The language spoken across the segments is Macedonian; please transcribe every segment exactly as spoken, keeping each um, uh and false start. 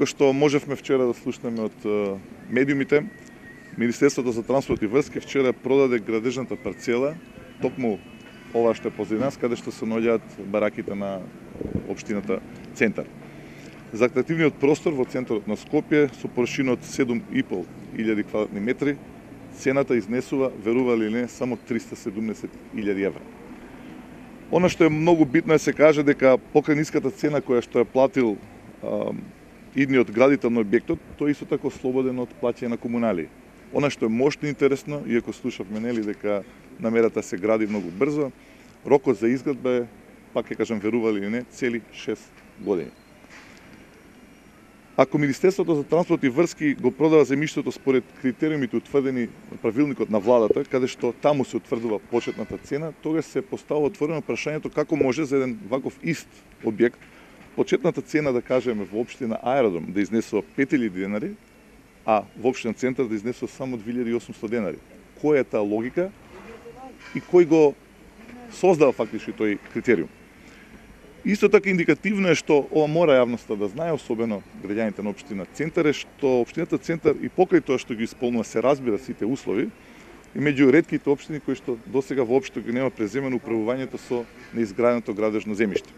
Како што можевме вчера да слушнеме од медиумите, Министерството за транспорт и врски вчера продаде градежната парцела, токму ова што е позади нас, каде што се наоѓаат бараките на општината Центар. За атрактивниот простор во центарот на Скопје со површина од седум и пол илјади квадратни метри, цената изнесува, верували или не, само триста седумдесет илјади евра. Она што е многу битно е се каже дека покрај ниската цена која што ја платил а, идниот градител на објектот, тој исто тако слободен од плаќање на комуналии. Она што е мощно интересно, иако слушавме нели дека намерата се гради многу брзо, рокот за изградба е, пак ќе кажам верували или не, цели шест години. Ако Министерството за транспорт и врски го продава земјиштето според критериумите утврдени на правилникот на владата, каде што таму се утврдува почетната цена, тогаш се поставува отворено прашањето како може за еден ваков ист објект почетната цена, да кажеме, во општина Аеродром да изнесува пет илјади денари, а во општина Центар да изнесува само две илјади и осумстотини денари. Која е таа логика и кој го создава фактички тој критериум? Исто така индикативно е што ова мора јавноста да знае, особено граѓаните на општина Центар, е што општината Центар и покрај тоа што ги исполнува се разбира сите услови, и меѓу ретките општини кои што досега воопшто ги нема преземено управувањето со неизграденото градежно земјиште.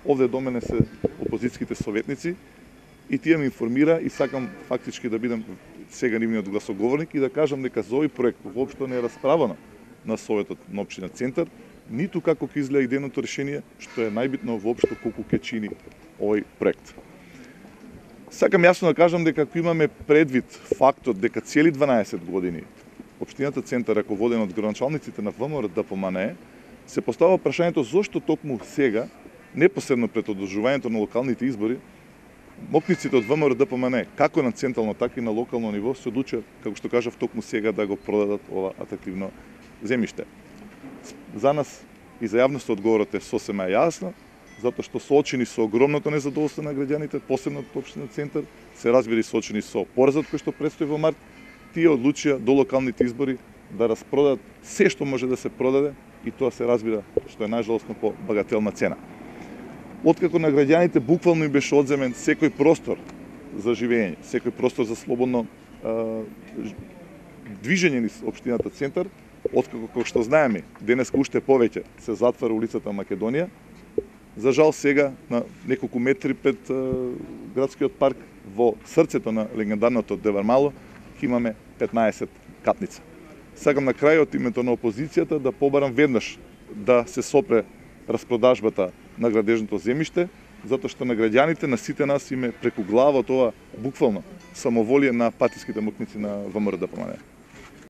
Овде до мене се опозицијските советници и тие ме информира и сакам фактички да бидам сега нивниот гласоговорник и да кажам дека за овој проект воопшто не е расправано на Советот на општина Центар, ниту како ќе изгледа идејното решение, што е најбитно воопшто колку ќе чини овој проект. Сакам јасно да кажам дека ако имаме предвид фактот дека цели дванаесет години општината Центар, раководена од градоначалниците на ВМРО Д П М Н Е, се поставува прашањето зошто токму сега, непосредно пред одржувањето на локалните избори, мокниците од ВМРО Д П М Н Е, како на централно, така и на локално ниво, се одлучат, како што кажав, токму сега да го продадат ова атрактивно земјиште. За нас и за јавноста одговорот е сосема јасно, затоа што соочени со огромното незадоволство на граѓаните, посебно од општина Центар, се разбира и соочени со поразот кој што предстои во март, тие одлучија до локалните избори да распродадат се што може да се продаде и тоа се разбира што е најжалосно по багателна цена. Откако на граѓаните буквално им беше одземен секој простор за живење, секој простор за слободно а, движење низ општината Центар, откако, како што знаеме, денеска уште повеќе се затвара улицата Македонија, за жал сега на неколку метри пред а, градскиот парк во срцето на легендарното Девармало ќе имаме петнаесет катница. Сакам на крај од името на опозицијата да побарам веднаш да се сопре распродажбата на градежното земјиште, затоа што на граѓаните, на сите нас име преку глава тоа буквално самоволие на партиските мокници на ВМРО Д П М Н Е.